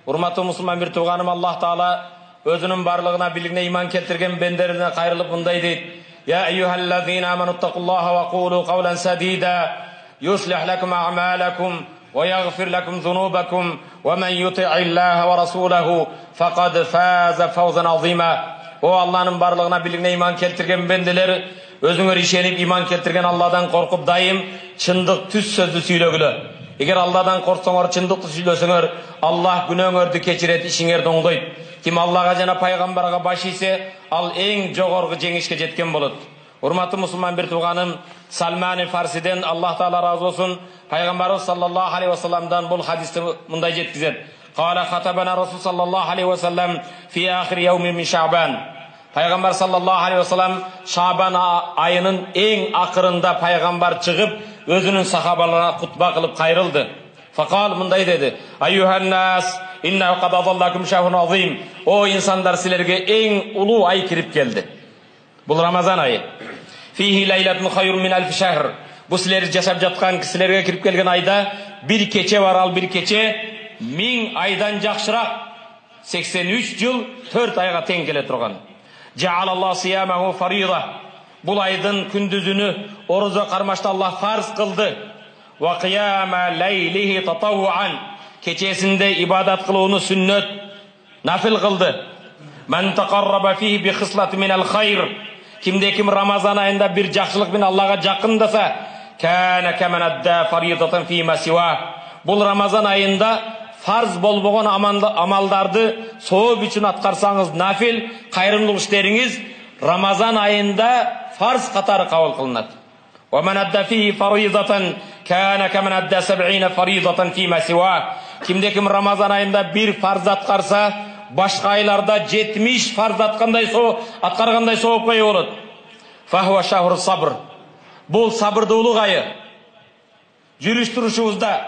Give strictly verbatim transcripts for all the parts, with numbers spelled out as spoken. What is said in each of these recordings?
Урматтуу мусулман бир тууганым, Аллах Таала өзүнүн барлыгына бийлигине иман келтирген бендерине кайрылып мындай дейт: Я айюхаллазина амануттакуллаха ва кулу кавлан садида юслих лакум а'малакум ва ягфир лакум зунубакум ва ман юти'иллаха ва расулаху факад фаза фавзан азима. О Алланын барлыгына бийлигине иман келтирген бенделер, өзүңөр ишенип иман келтирген Алладан коркуп дайым чындык түз сөздү сүйлөгүлө. Эгер Алладан корксоңор, чындыкты сүйлөсөңөр, Аллах күнөөңөрдү кечирет, ишиңерди оңдойт. Ким Аллага жана пайгамбарга баш ийсе, ал эң жогорку жеңишке жеткен болот. Урматтуу мусулман бир тууганым, Салман Фарсиден, Аллах Таала разы болсун, пайгамбарыбыз саллаллаху алейхи ва салламдан бул хадисти мындай жеткизет: Кала хатабана Расул саллаллаху алейхи ва саллам фи ахир яуми мин Шаъбан. Пайгамбар саллаллаху алейхи ва саллам Шаъбан айынын эң акырында пайгамбар чыгып, өзүнүн сахабаларына кутба кылып кайрылды. Факал мындай деди: Айюхан нас, инна кад адаллакум шахрун азим. О инсандар, силерге эң улуу ай кирип келди. Бул Рамазан айы. Фихи лайлатун хайрун мин алфи шахр. Бу силер жашап жаткан кисилерге кирип келген айда бир кече бар, ал бир кече миң айдан жакшыраак, сексен үч жыл төрт айга тең келе турган. Жаалаллаху сиямаху фарида. Бул айдын күндүзүнү орозо кармашты Аллах фарз кылды. Ва кияма лейлихи татаввуан. Кечесинде ибадат кылууну сүннөт, нафил кылды. Ман тaqarraba fihi bi khislati min al-khayr. Кимде ким Рамазан айында бир жакшылык менен Аллага жакындаса, кана каман адда фаридатан фи ма сива. Бул Рамазан айында фарз болбогон амалдарды сооп үчүн аткарсаңыз, нафил кайрымдуулук иштериңиз Рамазан айында фарз катары кабыл кылынат. Ва ман адда фи фаридатан кана каман адда саб'ина фаридатан фи ма сива. Кимде ким Рамазан айында бир фарз аткарса, башка айларда жетимиш фарз аткандай соо аткаргандай соопко ээ болот. Фахуа шахру сабр. Бул сабырдуулук айы. Жүрүш турушубузда,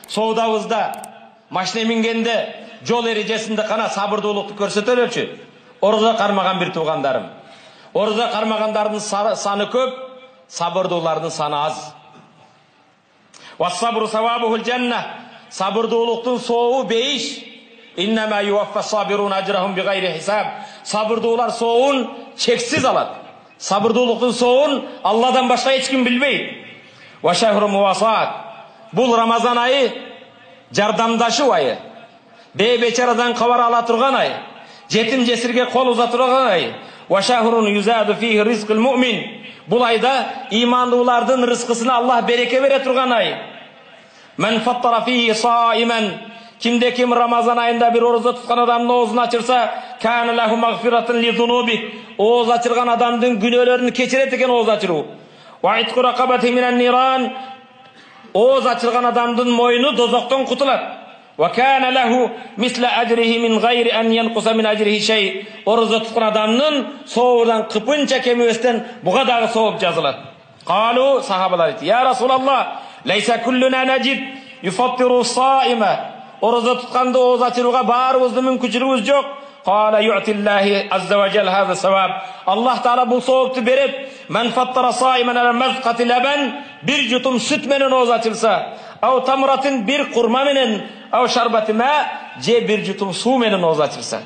соодабызда, машина мингенде, жол эрежесинде кана сабырдуулукту көрсөтөлөчү. Орозо кармаган бир туугандарым. Орозо кармагандардын саны көп, сабырдуулардын саны аз. Ва сабру савабухул жанна. Сабырдуулуктун сообу бейиш. Иннама юваффа сабирун ажрахум бигайри хисаб. Сабырдуулар сообун чексиз алат. Сабырдуулуктун сообун Алладан башка эч ким билбейт. Ва шахру мувасаат. Бул Рамазан айы жардамдашуу айы. Бээ бечарадан кабар ала турган ай. Жетим жесирге кол уза турган ай. Ва шахрун юзаду фихи ризкул муъмин. Бул айда имандуулардын рызкысына Аллах береке бере турган ай. Ман фаттара фихи саиман. Кимде ким Рамазан айында бир орозо туткан адамдын оозун ачырса, кана лаху магфиратун ли зунуби. Ооз ачырган адамдын күнөөлөрүн кечирет экен ооз ачыруу. Ва итқу рақабати минан ниран. Ооз ачырган адамдын мойну дозоктон кутулат. Ва кана лаху мисла ажрихи мин гайри ан янқуса мин ажрихи шей. Орозо туткан адамдын сообудан кыпынча кемебестен буга дагы сооп жазылат. Калу, сахабалар айты: Я Расулаллах, лайса куллуна наджид юфаттиру саима. Орозо тутканды ооз ачырууга баарыбыздын мүмкүнчүлүгүбүз жок. Кала ю'тиллахи азза ва жал хаза саваб. Аллах Таала бул соопту берет. Ман фаттара саиман ала мазқати лабан. Бир жутум сүт менен ооз ачырса, ау тамратин бир курма менен, ау шарбати ма, же бир жутум суу менен ооз ачырса.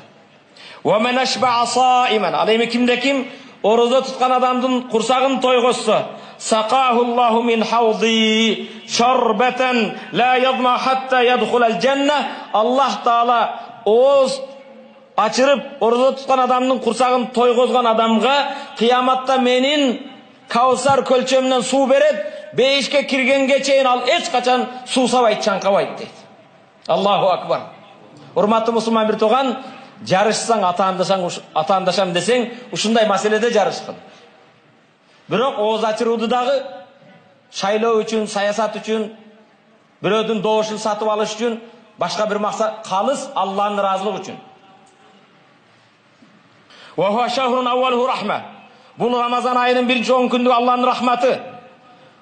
Ва ман ашба'a саиман. Ал эми кимде ким орозо туткан адамдын курсагын тойгозсо, сaqahu Allahu min hawdi sharbatan la yadma hatta yadkhul al-janna. Аллах Таала ооз ачырып орозо туткан адамдын курсагын тойгозгон адамга кыяматта менин Каусар көлчөмүнөн суу берет, бейишке киргенге чейин ал эч качан суусабайт, чаңкабайт дейт. Аллаху акбар. Урматтуу мусулман бир тууган, жарышсаң, атаандашаң, атаандашам десең, ушундай маселеде жарышкын. Бирок ооз ачырууду дагы шайлоо үчүн, саясат үчүн, бирөөдүн добушун сатып алыш үчүн, башка бир максат, калыс Алланын ыраазылыгы үчүн. Ва хуа шахрун аввалуху рахма. Бул Рамазан айынын биринчи он күндүк Алланын рахматы.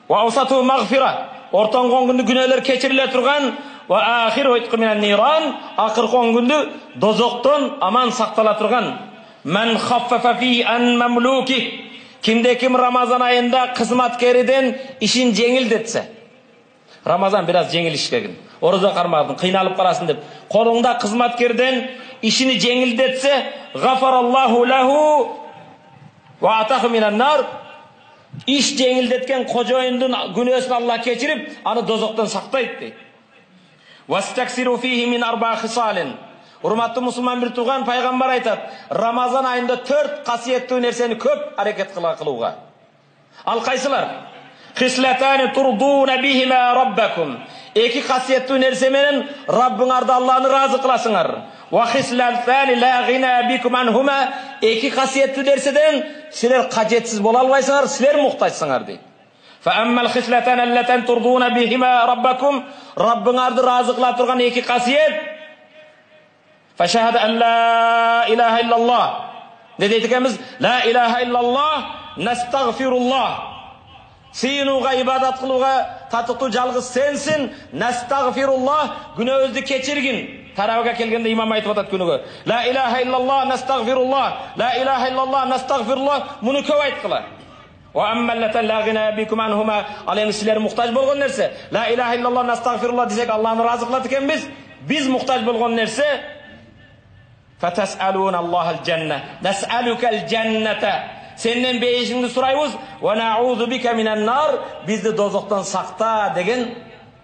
Ва аусату магфира. Ортоңку он күндүк күнөөлөр кечириле турган. Ва ахиру итқу минан ниран. Акыркы он күндү дозоктон аман сактала турган. Ман хаффафа фи ан мамлуки. Кимде ким Рамазан айында кызматкериден ишин жеңилдетсе. Рамазан бир аз жеңил иш келген. Орозо кармадың, кыйналып каласың деп. Колуңда кызматкерден ишини жеңилдетсе, гафараллаху лаху ва атаху минан нар. Иш жеңилдеткен кожоюндун күнөөсүн Аллах кечирип, аны дозоктон сактайт дейт. Вастаксиру фихи мин арба хисалин. Урматтуу мусулман бир тууган, пайгамбар айтат, Рамазан айында төрт касиеттүү нерсени көп аракет кылууга. Ал кайсылар? Хислатани турдуна бихима раббакум. Эки касиеттүү нерсе менен Раббыңарды, Аллахны разы кыласыңар. Ва хислатани ла гина бикум анхума. Эки касиеттүү нерседен силер кажетсиз боло албайсыңар, силер муктажсыңар дейт. Фа аммал хислатани аллатан турдуна бихима раббакум. Раббыңарды разы кыла турган эки касиет. Фашахада ан ла илаха иллаллах. Не дейт экенбиз? Ла илаха иллаллах, настагфируллах. Сыйынууга, ибадат кылууга татыктуу жалгыз сенсин. Настагфируллах, күнөөбүздү кечиргин. Тарабыга келгенде имам айтып атат күнүгө. Ла илаха иллаллах, настагфируллах. Ла илаха иллаллах, настагфируллах. Муну көп айткыла. Ва аммаллатан ла гина бикум анхума. Ал эми силер муктаж болгон нерсе. Ла илаха иллаллах, настагфируллах десек Аллахны разы кылат экенбиз. Биз муктаж болгон нерсе фатасалуна Аллахал жанна. Насалукал жанната. Сенден бейишиңди сурайбыз. Ва наузу бика минан нар. Бизди дозоктон сакта деген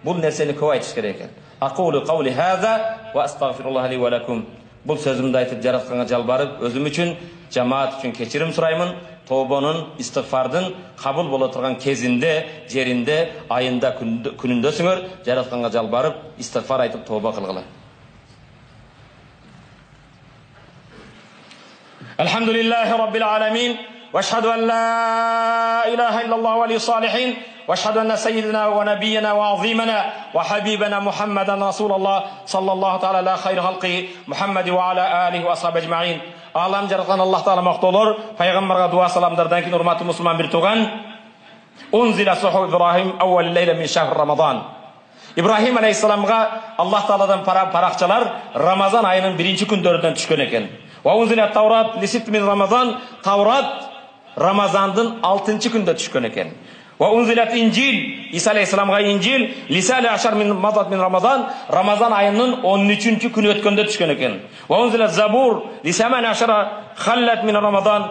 бул нерсени көп айтыш керек экен. Aqulu qawli hadha wa astaghfirullah li wa lakum. Бул сөзүмдү айтып жаратканга жалбарып, өзүм үчүн, жамаат үчүн кечирим сураймын. Тобонун, истигфардын кабыл боло турган кезинде, жеринде, айында, күнүндөсүңөр. Жаратканга жалбарып, истигфар айтып тоба кылгыла. Alhamdulillahi rabbil alamin. واشهد ان لا اله الا الله ولي الصالحين واشهد ان سيدنا ونبينا وعظيمنا وحبيبنا محمدا رسول الله صلى الله تعالى على خير خلقه محمد وعلى اله واصحابه اجمعين. Алам жараткан Аллах таала мактоолор, пайгамбарга дуа саламдардан кийин урматтуу мусулман бир тууган. Унзила суху Ибрахим awwal layla min shahr Ramadan. Ибрахим алейхиссаламга Аллах тааладан паракчалар Рамазан айынын биринчи күндөрүнөн түшкөн экен. Ва унзила Таврат li sitt min Ramadan. Таврат Рамазандын алтынчы күндө түшкөн экен. Ва унзилат Инжил, Иса алейхиссаламга Инжил лисали ашар мин мазат мин Рамазан, Рамазан айынын он үчүнчү күнү өткөндө түшкөн экен. Ва унзилат Забур лисаман ашара халлат мин Рамазан,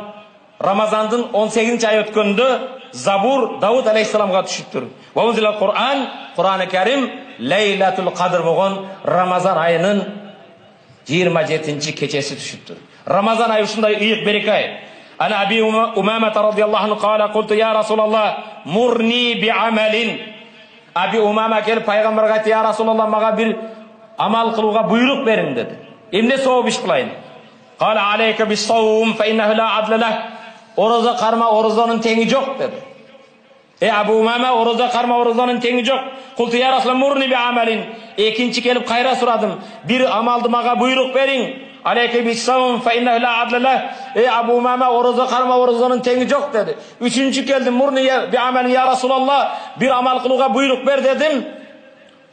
Рамазандын он сегизинчи ай өткөндө Забур Давуд алейхиссаламга түшүптүр. Ва унзилат Кур'ан, Кур'аны Карим Лейлатул Кадр болгон Рамазан айынын жыйырма жетинчи кечеси түшүптүр. Рамазан айы ушундай ыйык береке ай. أنا أبي أمامة رضي الله عنه قال قلت يا رسول الله مرني بعمل. أبي أمامة келип пайгамбарга айтты, يا رسول الله мага бир амал кылууга буйрук бериң деди. Эмне сооп иш кылайын? قال عليك بالصوم فإنه لا عدل له. Орозо карма, орозонун теңи жок деди. Э Абу Умама, орозо карма, орозонун теңи жок. قلت يا رسول الله مرني بعمل. Экинчи келип кайра сурадым. Бир амалды мага буйрук бериң. Алейке бис-савм фа иннаху ла адла лах. Ey Abu Umama, orozо карма, орозонун теңи жок dedi. Üçüncü келдим, мурни би амал я Расулаллах, бир амал кылууга буйрук бер дедим.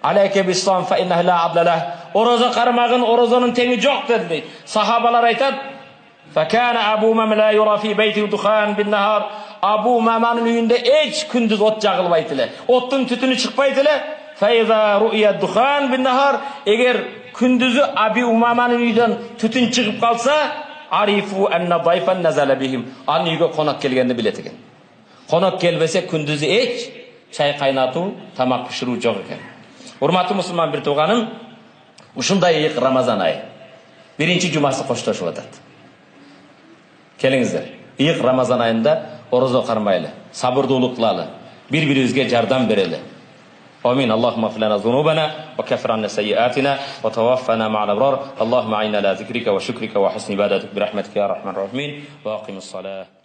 Алейке бис-савм фа иннаху ла адла лах. Орозо кармагын, орозонун теңи жок dedi. Сахабалар айтат, факана Абу Умама ла юра фи бейти дукхан бин-нахар. Абу Умаманын үйүндө эч күндүз от жагылбайт эле. Оттун түтүнү чыкпайт эле. Файза ру'я дукхан бин-нахар. Эгер күндүзү Аби Умаманын үйдөн түтүн чыгып калса, арифу анна дайфан назала бихим. Анын үйгө конок келгенди билет экен. Конок келбесе күндүзү эч чай кайнатуу, тамак пиширүү жок экен. Урматтуу мусулман бир тууганым, ушундай ыйык Рамазан айы биринчи жумасы коштошуп атат. Келиңиздер, ыйык Рамазан айында орозо кармайлы, сабырдуулук кылалы, бири-бирибизге жардам берели. آمين. اللهم اغفر لنا ذنوبنا وكفر عنا سيئاتنا وتوفنا مع الأبرار. اللهم أعنا على ذكرك وشكرك وحسن عبادتك برحمتك يا أرحم الراحمين. وأقم الصلاة.